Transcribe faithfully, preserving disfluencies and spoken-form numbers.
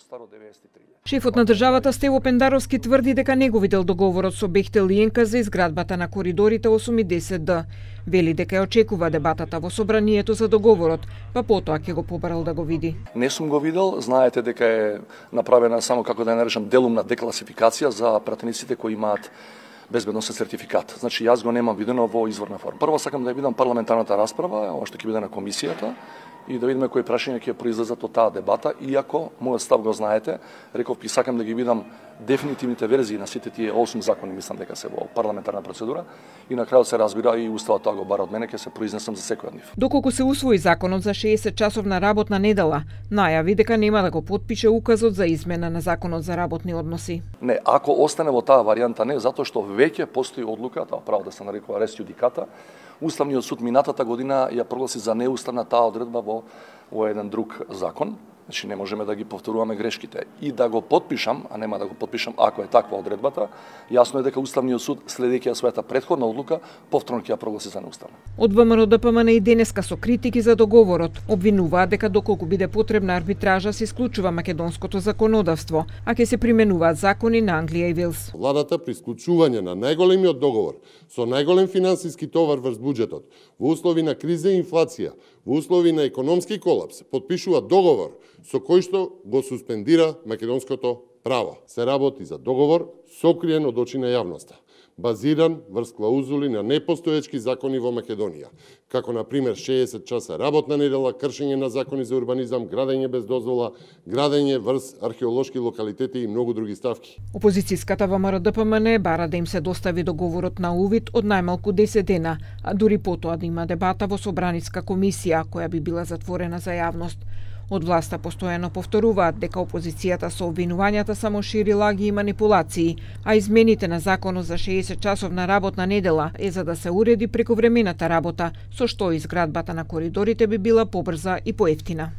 старо деветдесет и три. Шефот на државата Стево Пендаровски тврди дека не го видел договорот со Бехтел и Енка за изградбата на коридорите осум и десет Д. Вели дека ја очекува дебатата во собранието за договорот, па потоа ќе го побарал да го види. Не сум го видел, знаете дека е направена само, како да ја наречам, делумна декласификација за пратениците кои имаат безбедносен сертификат. Значи јас го немам видено во изворна форма. Прво сакам да ја видам парламентарната расправа, ова што ќе биде на комисијата, и да видиме кои прашања ќе произлезат од таа дебата, иако мојот став го знаете, реков би сакам да ги видам дефинитивните верзии на сите тие осум закони, мислам дека се во парламентарна процедура, и на крајот се разбира и уставот тоа го бара од мене, ќе се произнесам за секој од нив. Доколку се усвои законот за шеесет часовна работна недела, најави дека нема да го потпише указот за измена на законот за работни односи. Не, ако остане во таа варијанта не, затоа што веќе постои одлука, тоа право да се нарекува рес јудиката. Уставниот суд минатата година ја прогласи за неуставна таа одредба во, во еден друг закон. Значи не можеме да ги повторуваме грешките. И да го потпишам, а нема да го потпишам ако е таква одредбата, јасно е дека Уставниот суд, следејќи ја својата претходна одлука, повторно ќе ја прогласи за неуставна. Од ВМРО Д П М Н и денеска со критики за договорот, обвинуваат дека доколку биде потребна арбитража се исклучува македонското законодавство, а ќе се применуваат закони на Англија и Велс. Владата при исклучување на најголемиот договор со најголем финансиски товар врз буџетот, во услови на криза и инфлација, во услови на економски колапс, потпишува договор со кој што го суспендира македонското право. Се работи за договор сокриен од очи на јавноста, базиран врз клаузули на непостоечки закони во Македонија, како на пример шеесет часа работна недела, кршење на закони за урбанизам, градење без дозвола, градење врз археолошки локалитети и многу други ставки. Опозицијската ВМРО Д П М Н бара да им се достави договорот на увид од најмалку десет дена, а дури потоа да има дебата во собраниска комисија која би била затворена за јавност. Од власта постојано повторуваат дека опозицијата со обвинувањата само шири лаги и манипулации, а измените на законот за шеесет часовна работна недела е за да се уреди прековремената работа, со што изградбата на коридорите би била побрза и поевтина.